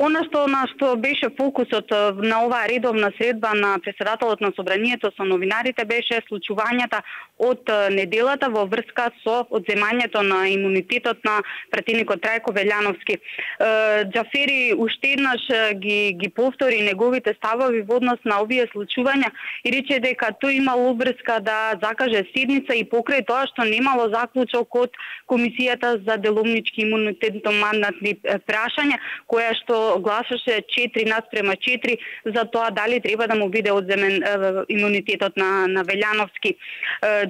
Она на што беше фокусот на оваа редовна средба на претседателот на собранието со новинарите беше случувањата од неделата во врска со одземањето на имунитетот на пратеникот Трајко Велјановски. Џафери уште еднаш ги повтори неговите ставови во однос на овие случувања и рече дека тој имал врска да закаже седница и покрај тоа што немало заклучок од Комисијата за деломнички имунитетно-мандатни прашања, која што гласаше 4:4 за тоа дали треба да му биде одземен имунитетот на Велјановски.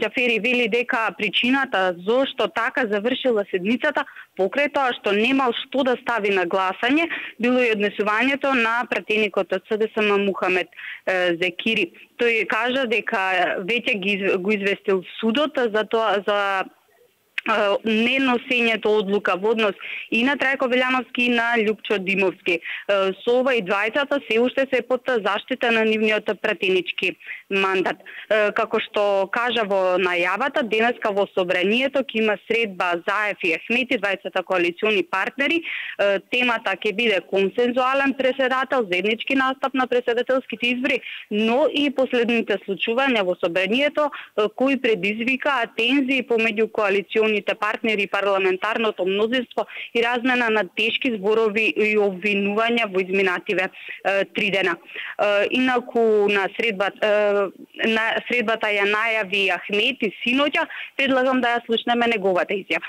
Џафери вели дека причината зошто така завршила седницата покрај тоа што немал што да стави на гласање било и однесувањето на пратеникот од СДСМ Мухамед Зекири. Тој кажа дека веќе го известил судот за тоа за неносењето одлука во однос и на Трајко Велјановски и на Љупчо Димовски. Со ова и двајцата се уште се под заштита на нивниот пратенички мандат. Како што кажа во најавата, денеска во собранието ќе има средба Заев и Ахмети, двајцата коалициони партнери. Темата ќе биде консензуален претседател, заеднички настап на претседателските избори, но и последните случувања во собранието кои предизвикаа тензии помеѓу коалициони партнери и парламентарното мнозинство и размена на тешки зборови и обвинувања во изминативе 3 дена. Инаку на средбата ја најави Ахмети синоќа, предлагам да ја слушнеме неговата изјава.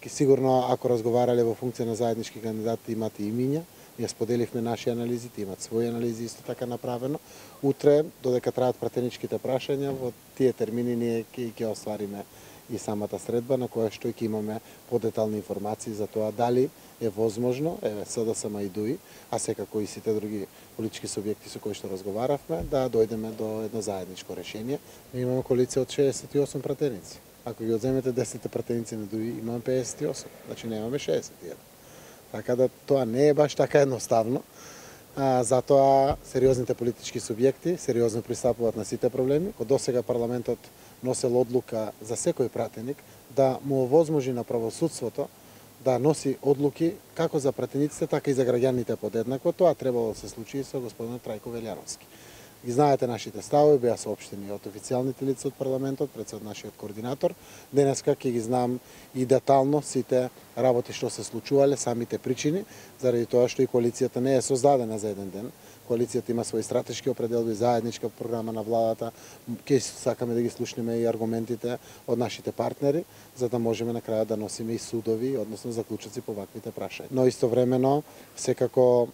Сигурно, ако разговарале во функција на заеднички кандидати, имате имиња. Ние споделивме наши анализи, имат своји анализи исто така направено. Утре, додека траат пратеничките прашања, во тие термини ние ќе оствариме и самата средба, на која што ќе имаме подетални информации за тоа дали е возможно, СДСМ и ДУИ, а секако и сите други политички субјекти со кои што разговаравме, да дојдеме до едно заедничко решение. Ние имаме коалиција од 68 пратеници. Ако ги одземете 10 пратеници на ДУИ, имаме 58, значи немаме 61. Така да тоа не е баш така едноставно. Затоа сериозните политички субјекти сериозно пристапуваат на сите проблеми. Од досега парламентот носел одлука за секој пратеник да му овозможи на правосудството да носи одлуки како за пратениците, така и за граѓаните подеднакво. Тоа требало да се случи и со господинот Трајко Велјановски. Ги знаете нашите ставови, беа соопштени од официјалните лица од парламентот, пред од нашиот координатор. Денеска ќе ги знам и детално сите работи што се случувале, самите причини, заради тоа што и коалицијата не е создадена за еден ден. Коалицијата има свои стратешки определби, заедничка програма на владата. Ќе сакаме да ги слушнеме и аргументите од нашите партнери, за да можеме на крајот да носиме и судови, односно заклучоци по ваквите прашања. Но истовремено, секако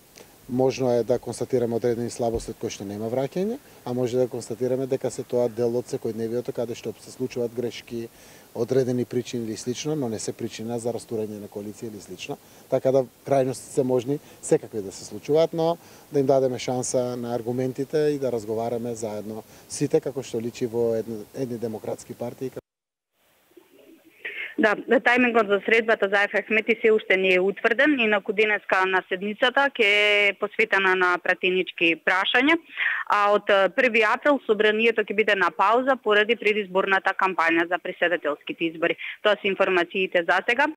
можно е да констатираме одредени слабости од кои што нема враќање, а може да констатираме дека се тоа дел од секојдневието каде што се случуваат грешки, одредени причини или слично, но не се причина за растурање на коалиција или слично. Така да крајностите се можни секакви да се случуваат, но да им дадеме шанса на аргументите и да разговараме заедно сите како што личи во едни демократски партии. Да, тајмингот за средбата за Ахмети се уште не е утврден, инаку денеска на седницата ќе е посветена на пратенички прашања, а од 1 април собранието ќе биде на пауза поради предизборната кампања за претседателските избори. Тоа се информациите за сега.